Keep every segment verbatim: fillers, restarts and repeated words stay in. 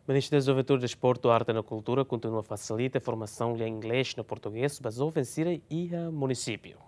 Ministériu Juventude, Desportu, Arte no Kultura kontinua fasilita formasaun lia inglés no portugés ba joven sira iha munisípiu.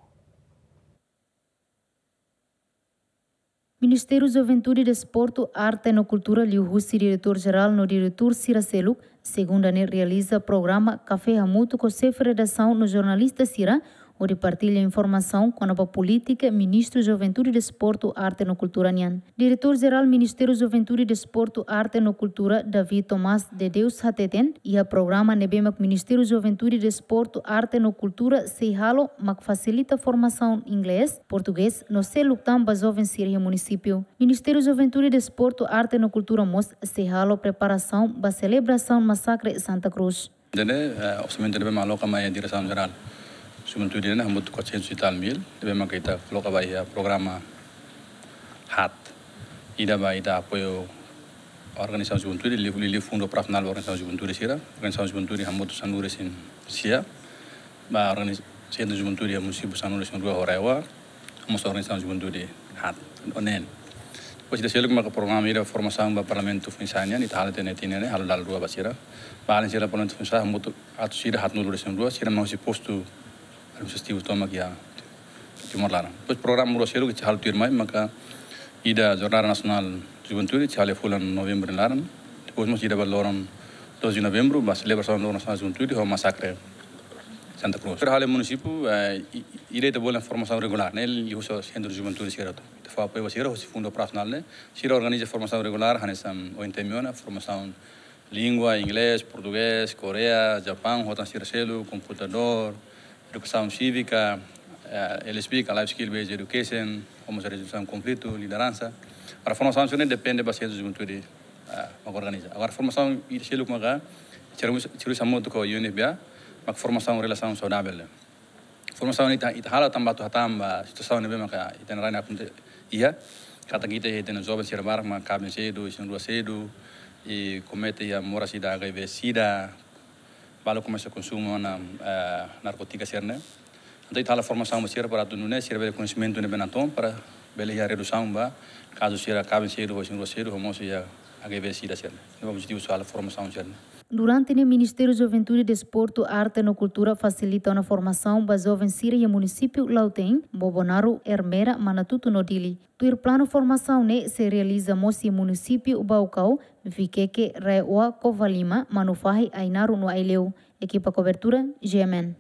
Ministériu Juventude, Desportu, Arte no Kultura liuhusi Diretór Jerál no diretór sira seluk, segunda ne'e realiza programa Kafé Hamutuk ho xefe redasaun no jornalista sira, hodi partilla informasaun kona-ba polítika Ministru Juventude, Desportu, Arte no Kultura nian. Diretór Jerál Ministériu Juventude, Desportu, Arte no Kultura, David Tomás de Deus hateten, iha programa ne'ebé mak Ministériu Juventude, Desportu, Arte no Kultura sei halo mak fasilita formasaun inglés, portugés no seluk tan ba joven sira iha munisípiu. Ministériu Juventude, Desportu, Arte no Kultura mós sei halo preparasaun ba selebrasaun masakre Santa Cruz. Ne'e, eh, orsamentu ne'ebé mak aloka mai iha Diresaun Jerál Juventude ne'e hamutuk quatrocentos e tal mil, ne'ebé mak ita koloka ba iha programa haat. Ida ba ita apoiu organizasaun juventude, liuliu, liuliu fundu operasionál ba organizasaun juventude sira, organizasaun juventude hamutuk sanulu-resin-sia, ba organiz-, sentru juventude iha munisípiu sanulu-resin-rua ho RAEOA, mós organizasaun juventude haat, onen. Depois ida seluk maka programa ida formasaun ba Parlamentu Foinsa'e nian, ita halo tiha ona tinan ne'e, halo dala rua ba sira. Ba alin sira Parlamentu Foinsa'e, hamutuk atus ida haatnulu-resin-rua, sira mak husi postu administrativu tomak iha Timor laran. Depois programa rua seluk ita halo tuirmai, maka ida Jornada Nasionál Juventude, ita halo iha fulan Novembru nia laran. Depois mós ida ba loron doze de Novembru, ba selebrasaun Loron Nasionál Juventude, ho masakre Santa Cruz. Sira halo iha munisípiu, eh, i-, i-, ida ita bolu formasaun regulár, ne'e liuhusi sentru juventude sira hotu. Ita fó apoiu ba sira, husi fundu operasionál ne'e, sira organiza formasaun regulár, hanesan ohin ita mensiona, formasaun língua, inglés, portugés, Koreia, Japaun, ho tan sira seluk, komputadór, edukasaun sívika, eh, L S P, ka Life Skill Based Education, ho mós rezolusaun konflitu, lideransa. Para formasaun sira-ne'e depende ba sentru juventude, eh, mak organiza. Agora formasaun ida seluk maka, sira, sira hamutuk ho U N F P A, mak formasaun relasaun saudavel. Formasaun ita, ita halo tanba atu hatán ba situasaun ne'ebé maka ita-nia rain akontese iha, katak ita iha ita-nia joven sira barak mak kaben sedu, isin-rua sedu, i komete iha moras ida H I V sida, balu komesa konsumu ona, eh, narkótika sira-ne'e. Entaun ita halo formasaun ba sira para atu nune'e sira bele koñesimentu ne'ebé natoon para bele iha redusaun ba kazu sira kaben sedu, isin-rua sedu, ho mós iha H I V sida sira-ne'e. Ne'e objetivu husi halo formasaun sira-ne'e. Durante ne'e Ministériu Juventude, Desportu, Arte no Kultura fasilita ona formasaun ba joven sira iha munisípiu Lautein, Bobonaro, Ermera, Manatuto no Dili. Tuir planu formasaun ne'e sei realiza mós iha munisípiu Baucau, Viqueque, RAEOA, Covalima, Manufahi, Ainaro no Aileu. Ekipa kobertura, G M N.